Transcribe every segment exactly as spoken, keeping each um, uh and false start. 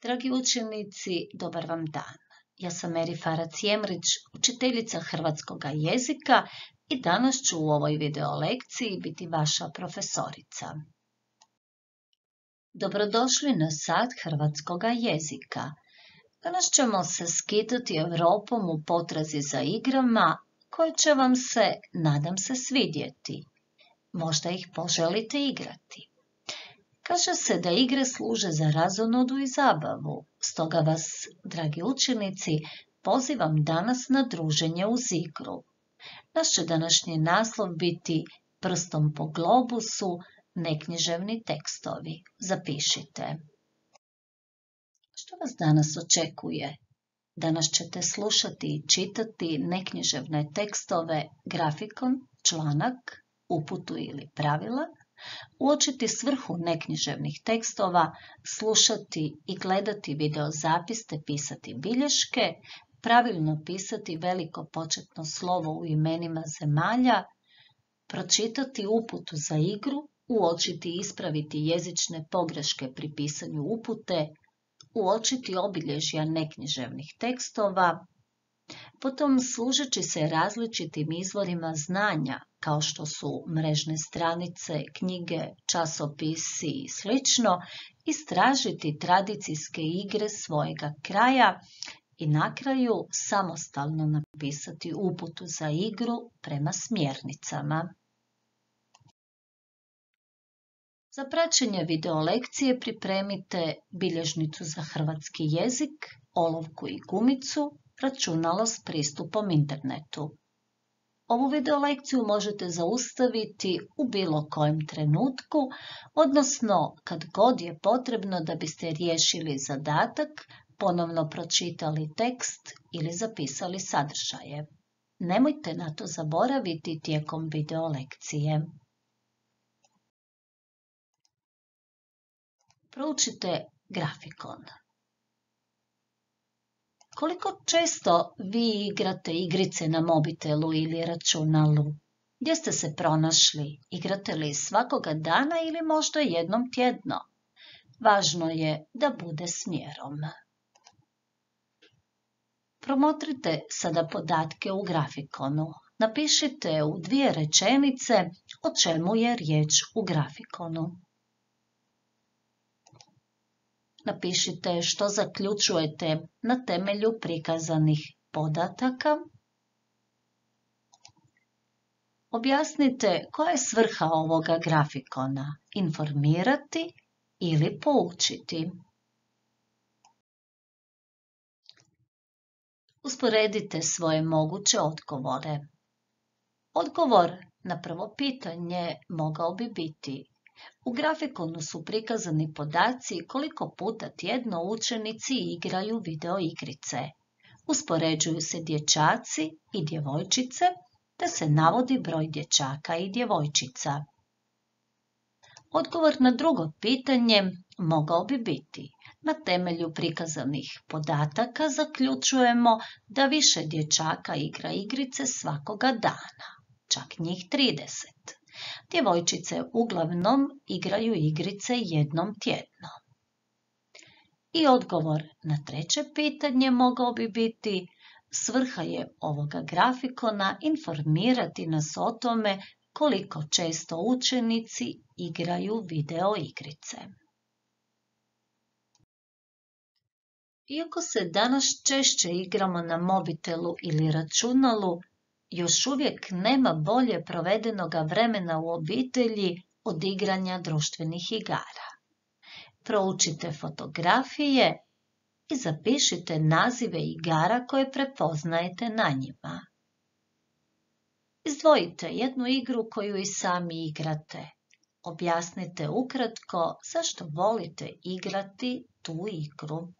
Dragi učenici, dobar vam dan. Ja sam Meri Farac Jemrić, učiteljica hrvatskog jezika i danas ću u ovoj video lekciji biti vaša profesorica. Dobrodošli na sat hrvatskog jezika. Danas ćemo se skitati Europom u potrazi za igrama koje će vam se, nadam se, svidjeti. Možda ih poželite igrati. Kaže se da igre služe za razonodu i zabavu, stoga vas, dragi učenici, pozivam danas na druženje uz igru. Naš će današnji naslov biti Prstom po globusu, neknjiževni tekstovi. Zapišite. Što vas danas očekuje? Danas ćete slušati i čitati neknjiževne tekstove, grafikon, članak, uputu ili pravila, uočiti svrhu neknjiževnih tekstova, slušati i gledati videozapis te pisati bilješke, pravilno pisati veliko početno slovo u imenima zemalja, pročitati uputu za igru, uočiti i ispraviti jezične pogreške pri pisanju upute, uočiti obilježja neknjiževnih tekstova, potom služeći se različitim izvorima znanja, kao što su mrežne stranice, knjige, časopisi i sl., istražiti tradicijske igre svojega kraja i na kraju samostalno napisati uputu za igru prema smjernicama. Za praćenje video lekcije pripremite bilježnicu za hrvatski jezik, olovku i gumicu, računalo s pristupom internetu. Ovu video lekciju možete zaustaviti u bilo kojem trenutku, odnosno kad god je potrebno da biste riješili zadatak, ponovno pročitali tekst ili zapisali sadržaje. Nemojte na to zaboraviti tijekom video lekcije. Proučite grafikon. Koliko često vi igrate igrice na mobitelu ili računalu? Gdje ste se pronašli? Igrate li svakoga dana ili možda jednom tjedno? Važno je da bude s mjerom. Promotrite sada podatke u grafikonu. Napišite u dvije rečenice o čemu je riječ u grafikonu. Napišite što zaključujete na temelju prikazanih podataka. Objasnite koja je svrha ovoga grafikona, informirati ili poučiti. Usporedite svoje moguće odgovore. Odgovor na prvo pitanje mogao bi biti: u grafikonu su prikazani podaci koliko puta tjedno učenici igraju video igrice. Uspoređuju se dječaci i djevojčice, te se navodi broj dječaka i djevojčica. Odgovor na drugo pitanje mogao bi biti: na temelju prikazanih podataka zaključujemo da više dječaka igra igrice svakoga dana, čak njih trideset. Djevojčice uglavnom igraju igrice jednom tjedno. I odgovor na treće pitanje mogao bi biti: svrha je ovoga grafikona informirati nas o tome koliko često učenici igraju video igrice. Iako se danas češće igramo na mobitelu ili računalu, još uvijek nema bolje provedenoga vremena u obitelji od igranja društvenih igara. Proučite fotografije i zapišite nazive igara koje prepoznajete na njima. Izdvojite jednu igru koju i sami igrate. Objasnite ukratko zašto volite igrati tu igru.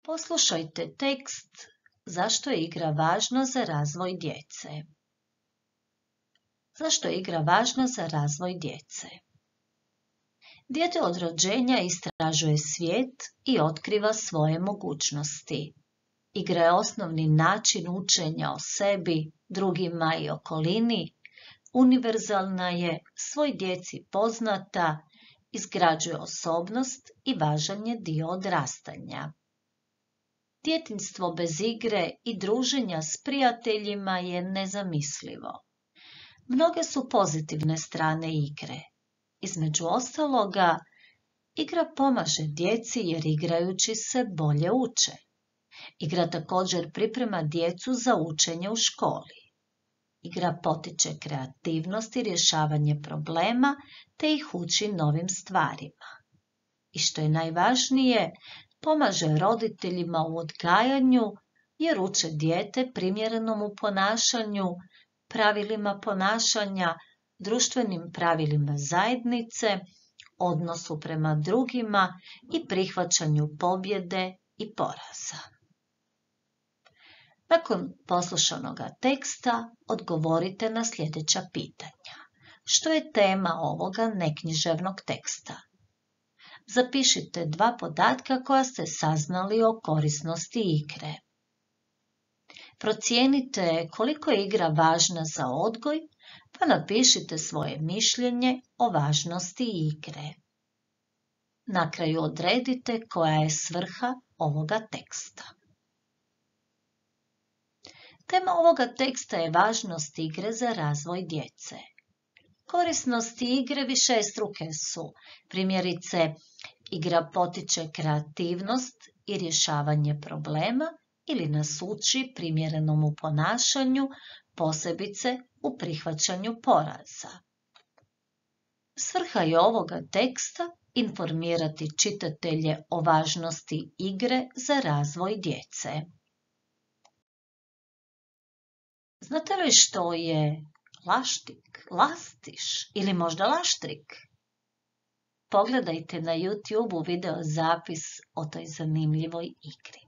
Poslušajte tekst zašto je igra važna za razvoj djece. Zašto je igra važna za razvoj djece? Dijete od rođenja istražuje svijet i otkriva svoje mogućnosti. Igra je osnovni način učenja o sebi, drugima i okolini, univerzalna je, svoj djeci poznata izgrađuje osobnost i važan je dio odrastanja. Djetinjstvo bez igre i druženja s prijateljima je nezamislivo. Mnoge su pozitivne strane igre. Između ostaloga, igra pomaže djeci jer igrajući se bolje uče. Igra također priprema djecu za učenje u školi. Igra potiče kreativnost i rješavanje problema te ih uči novim stvarima. I što je najvažnije, pomaže roditeljima u odgajanju jer uče dijete primjerenom u ponašanju, pravilima ponašanja, društvenim pravilima zajednice, odnosu prema drugima i prihvaćanju pobjede i poraza. Nakon poslušanoga teksta odgovorite na sljedeća pitanja. Što je tema ovoga neknjiževnog teksta? Zapišite dva podatka koja ste saznali o korisnosti igre. Procijenite koliko je igra važna za odgoj, pa napišite svoje mišljenje o važnosti igre. Na kraju odredite koja je svrha ovoga teksta. Tema ovoga teksta je važnost igre za razvoj djece. Korisnosti igre višestruke su, primjerice, igra potiče kreativnost i rješavanje problema ili nas uči primjerenom u ponašanju, posebice u prihvaćanju poraza. Svrha je ovoga teksta informirati čitatelje o važnosti igre za razvoj djece. Znate li što je laštik, lastiš ili možda laštrik? Pogledajte na YouTubeu video zapis o toj zanimljivoj igri.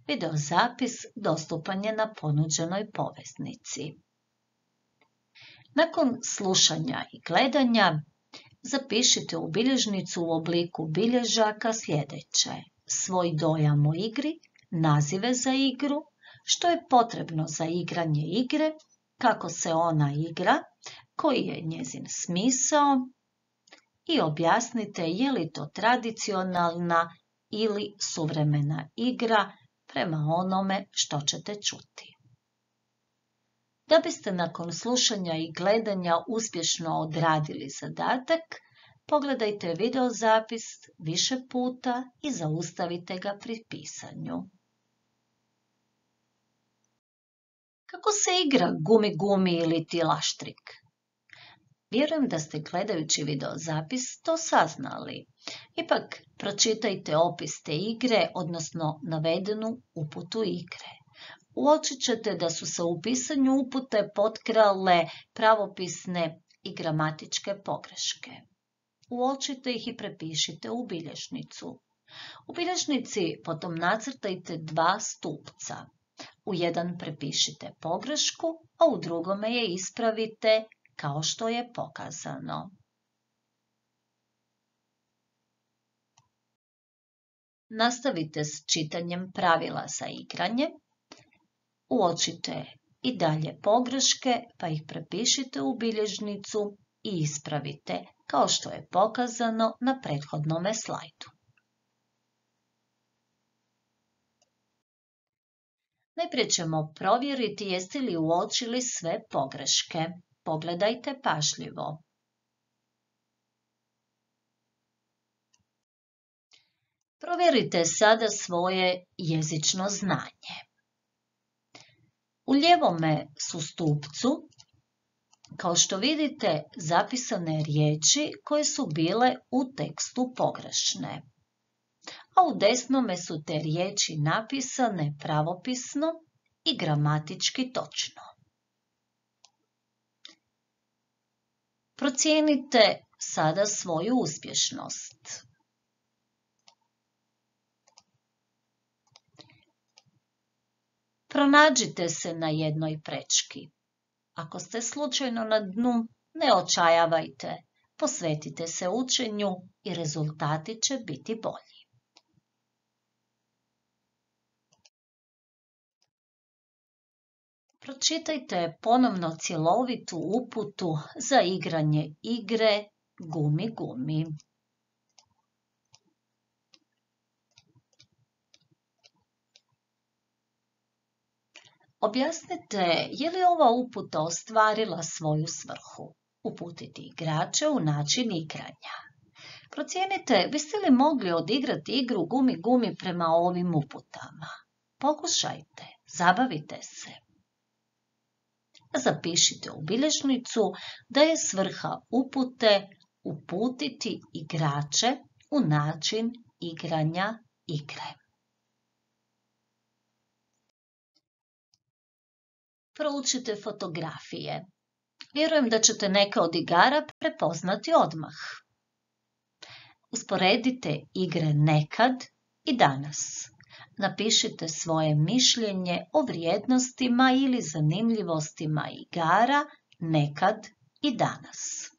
Video zapis dostupan je na ponuđenoj poveznici. Nakon slušanja i gledanja, zapišite u bilježnicu u obliku bilježaka sljedeće: svoj dojam o igri, nazive za igru, što je potrebno za igranje igre, kako se ona igra, koji je njezin smisao i objasnite je li to tradicionalna ili suvremena igra prema onome što ćete čuti. Da biste nakon slušanja i gledanja uspješno odradili zadatak, pogledajte video zapis više puta i zaustavite ga pri pisanju. Kako se igra gumi gumi ili ti laštrik? Vjerujem da ste gledajući video zapis to saznali. Ipak pročitajte opis te igre, odnosno navedenu uputu igre. Uočit ćete da su se u pisanju upute potkrale pravopisne i gramatičke pogreške. Uočite ih i prepišite u bilježnicu. U bilježnici potom nacrtajte dva stupca. U jedan prepišite pogrešku, a u drugome je ispravite kao što je pokazano. Nastavite s čitanjem pravila za igranje. Uočite i dalje pogreške, pa ih prepišite u bilježnicu i ispravite kao što je pokazano na prethodnome slajdu. Najprije ćemo provjeriti jeste li uočili sve pogreške. Pogledajte pažljivo. Provjerite sada svoje jezično znanje. U lijevome su stupcu, kao što vidite, zapisane riječi koje su bile u tekstu pogrešne, a u desnome su te riječi napisane pravopisno i gramatički točno. Procijenite sada svoju uspješnost. Pronađite se na jednoj prečki. Ako ste slučajno na dnu, ne očajavajte, posvetite se učenju i rezultati će biti bolji. Pročitajte ponovno cjelovitu uputu za igranje igre Gumi gumi. Objasnite je li ova uputa ostvarila svoju svrhu. Uputiti igrače u način igranja. Procijenite biste li mogli odigrati igru gumi gumi prema ovim uputama. Pokušajte, zabavite se. Zapišite u bilježnicu da je svrha upute uputiti igrače u način igranja igre. Proučite fotografije. Vjerujem da ćete neke od igara prepoznati odmah. Usporedite igre nekad i danas. Napišite svoje mišljenje o vrijednostima ili zanimljivostima igara nekad i danas.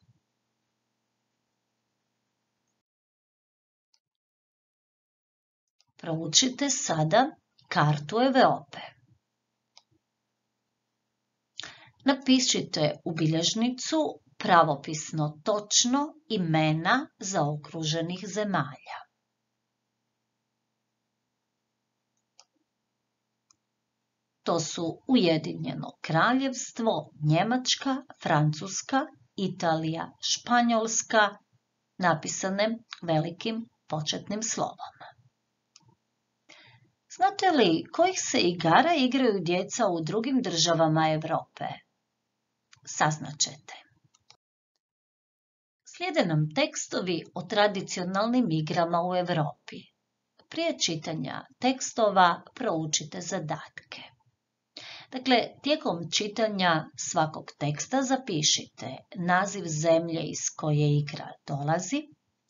Proučite sada kartu Europe. Napišite u bilježnicu pravopisno točno imena zaokruženih zemalja. To su Ujedinjeno Kraljevstvo, Njemačka, Francuska, Italija, Španjolska, napisane velikim početnim slovom. Znate li kojih se igara igraju djeca u drugim državama Europe? Saznaćete. Slijede nam tekstovi o tradicionalnim igrama u Europi. Prije čitanja tekstova proučite zadatke. Dakle, tijekom čitanja svakog teksta zapišite naziv zemlje iz koje igra dolazi,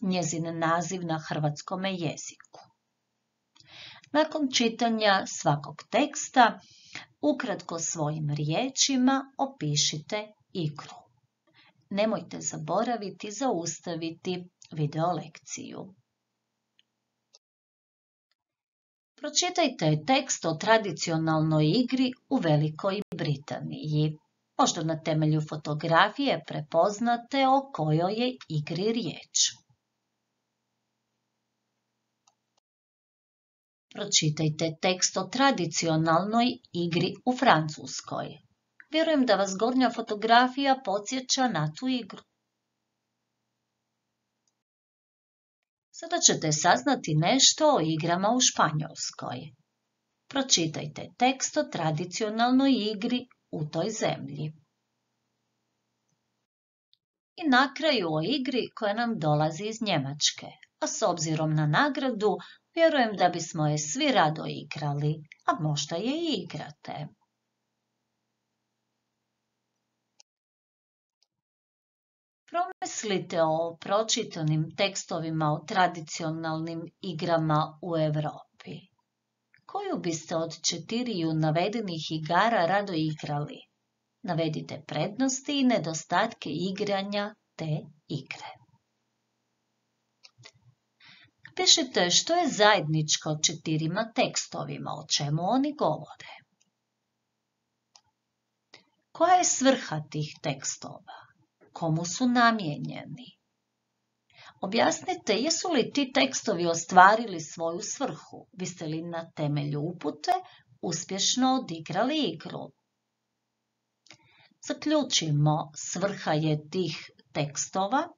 njezin naziv na hrvatskome jeziku. Nakon čitanja svakog teksta, ukratko svojim riječima opišite igru. Nemojte zaboraviti zaustaviti video lekciju. Pročitajte tekst o tradicionalnoj igri u Velikoj Britaniji. Možda na temelju fotografije prepoznate o kojoj je igri riječ. Pročitajte tekst o tradicionalnoj igri u Francuskoj. Vjerujem da vas gornja fotografija podsjeća na tu igru. Sada ćete saznati nešto o igrama u Španjolskoj. Pročitajte tekst o tradicionalnoj igri u toj zemlji. I na kraju o igri koja nam dolazi iz Njemačke, a s obzirom na nagradu, vjerujem da bismo je svi rado igrali, a možda je i igrate. Promislite o pročitanim tekstovima o tradicionalnim igrama u Europi. Koju biste od četiriju navedenih igara rado igrali? Navedite prednosti i nedostatke igranja te igre. Pišite što je zajedničko četirima tekstovima, o čemu oni govore. Koja je svrha tih tekstova? Komu su namijenjeni? Objasnite jesu li ti tekstovi ostvarili svoju svrhu, biste li na temelju upute uspješno odigrali igru. Zaključimo, svrha je tih tekstova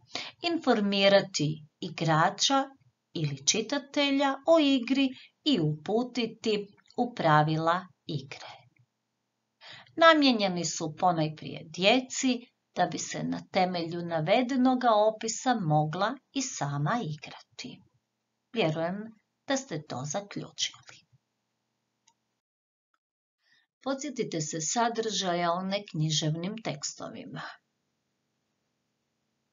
informirati igrača ili čitatelja o igri i uputiti u pravila igre. Namijenjeni su ponajprije djeci, da bi se na temelju navedenoga opisa mogla i sama igrati. Vjerujem da ste to zaključili. Podsjetite se sadržaja o neknjiževnim tekstovima.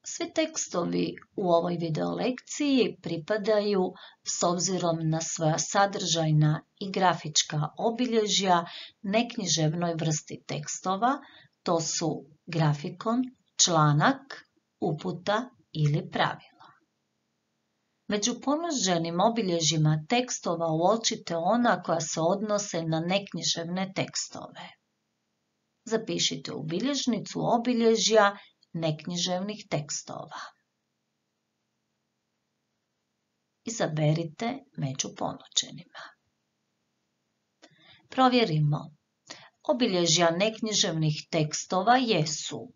Svi tekstovi u ovoj videolekciji pripadaju, s obzirom na svoja sadržajna i grafička obilježja, neknjiževnoj vrsti tekstova, to su grafikon, članak, uputa ili pravila. Među ponuđenim obilježjima tekstova uočite ona koja se odnose na neknjiževne tekstove. Zapišite u bilježnicu obilježja neknjiževnih tekstova. Izaberite među ponuđenima. Provjerimo. Obilježja neknjiževnih tekstova jesu: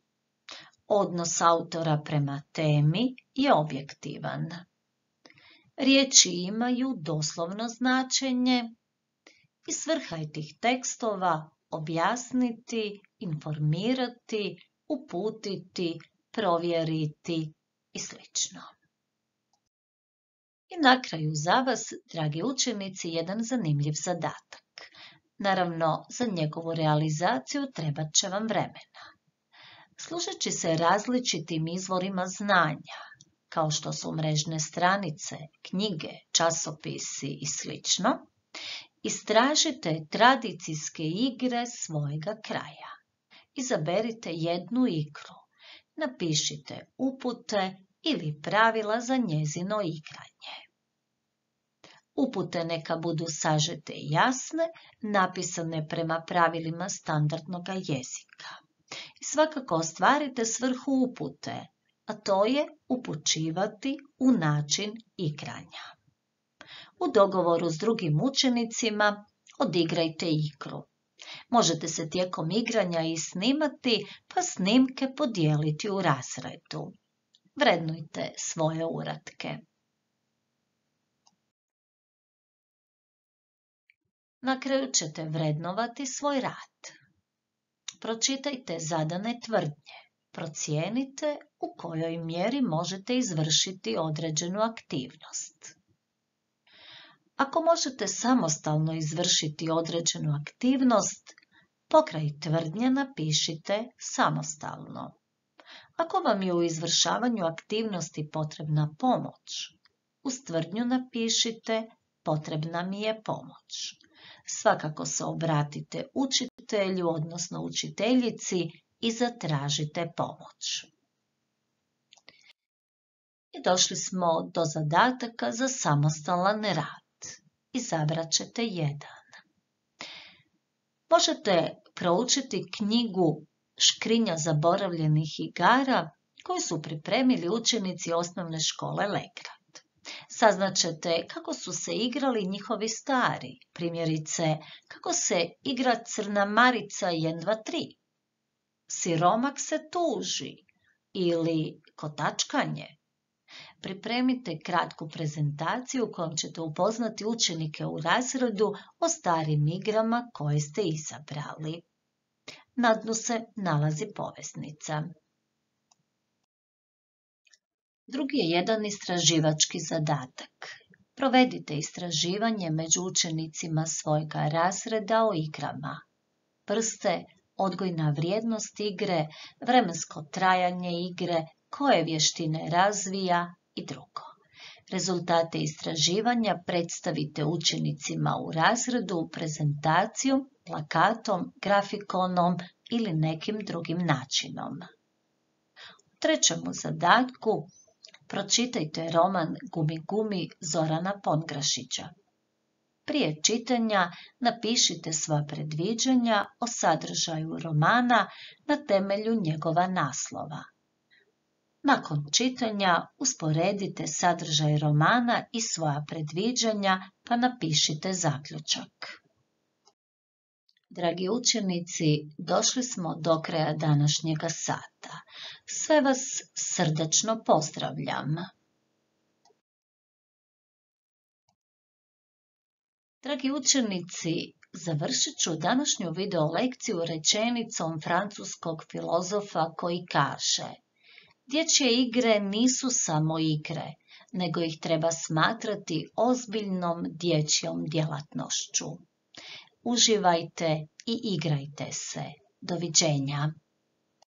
odnos autora prema temi je objektivan. Riječi imaju doslovno značenje i svrha je tih tekstova objasniti, informirati, uputiti, provjeriti i sl. I na kraju za vas, dragi učenici, jedan zanimljiv zadatak. Naravno, za njegovu realizaciju trebat će vam vremena. Služeći se različitim izvorima znanja, kao što su mrežne stranice, knjige, časopisi i sl., istražite tradicijske igre svojega kraja. Izaberite jednu igru, napišite upute ili pravila za njezino igranje. Upute neka budu sažete i jasne, napisane prema pravilima standardnog jezika. I svakako ostvarite svrhu upute, a to je upućivati u način igranja. U dogovoru s drugim učenicima odigrajte igru. Možete se tijekom igranja i snimati, pa snimke podijeliti u razredu. Vrednujte svoje uratke. Na kraju ćete vrednovati svoj rad. Pročitajte zadane tvrdnje. Procijenite u kojoj mjeri možete izvršiti određenu aktivnost. Ako možete samostalno izvršiti određenu aktivnost, pokraj tvrdnje napišite samostalno. Ako vam je u izvršavanju aktivnosti potrebna pomoć, uz tvrdnju napišite potrebna mi je pomoć. Svakako se obratite učitelju, odnosno učiteljici, i zatražite pomoć. I došli smo do zadataka za samostalan rad. Izabrat ćete jedan. Možete proučiti knjigu Škrinja zaboravljenih igara koju su pripremili učenici osnovne škole Legrad. Saznaćete kako su se igrali njihovi stari, primjerice kako se igra Crna Marica jedan, dva, tri. Siromak se tuži ili kotačkanje. Pripremite kratku prezentaciju kojom ćete upoznati učenike u razredu o starim igrama koje ste izabrali. Na dnu se nalazi poveznica. Drugi je jedan istraživački zadatak. Provedite istraživanje među učenicima svojega razreda o igrama. Vrste, odgojna vrijednost igre, vremensko trajanje igre, koje vještine razvija i drugo. Rezultate istraživanja predstavite učenicima u razredu prezentacijom, plakatom, grafikonom ili nekim drugim načinom. U trećemu zadatku pročitajte roman Gumi Gumi Zorana Pongrašića. Prije čitanja napišite sva predviđanja o sadržaju romana na temelju njegova naslova. Nakon čitanja usporedite sadržaj romana i svoja predviđanja pa napišite zaključak. Dragi učenici, došli smo do kraja današnjega sata. Sve vas srdačno pozdravljam. Dragi učenici, završit ću današnju video lekciju rečenicom francuskog filozofa koji kaže: dječje igre nisu samo igre, nego ih treba smatrati ozbiljnom dječjom djelatnošću. Uživajte i igrajte se. Doviđenja.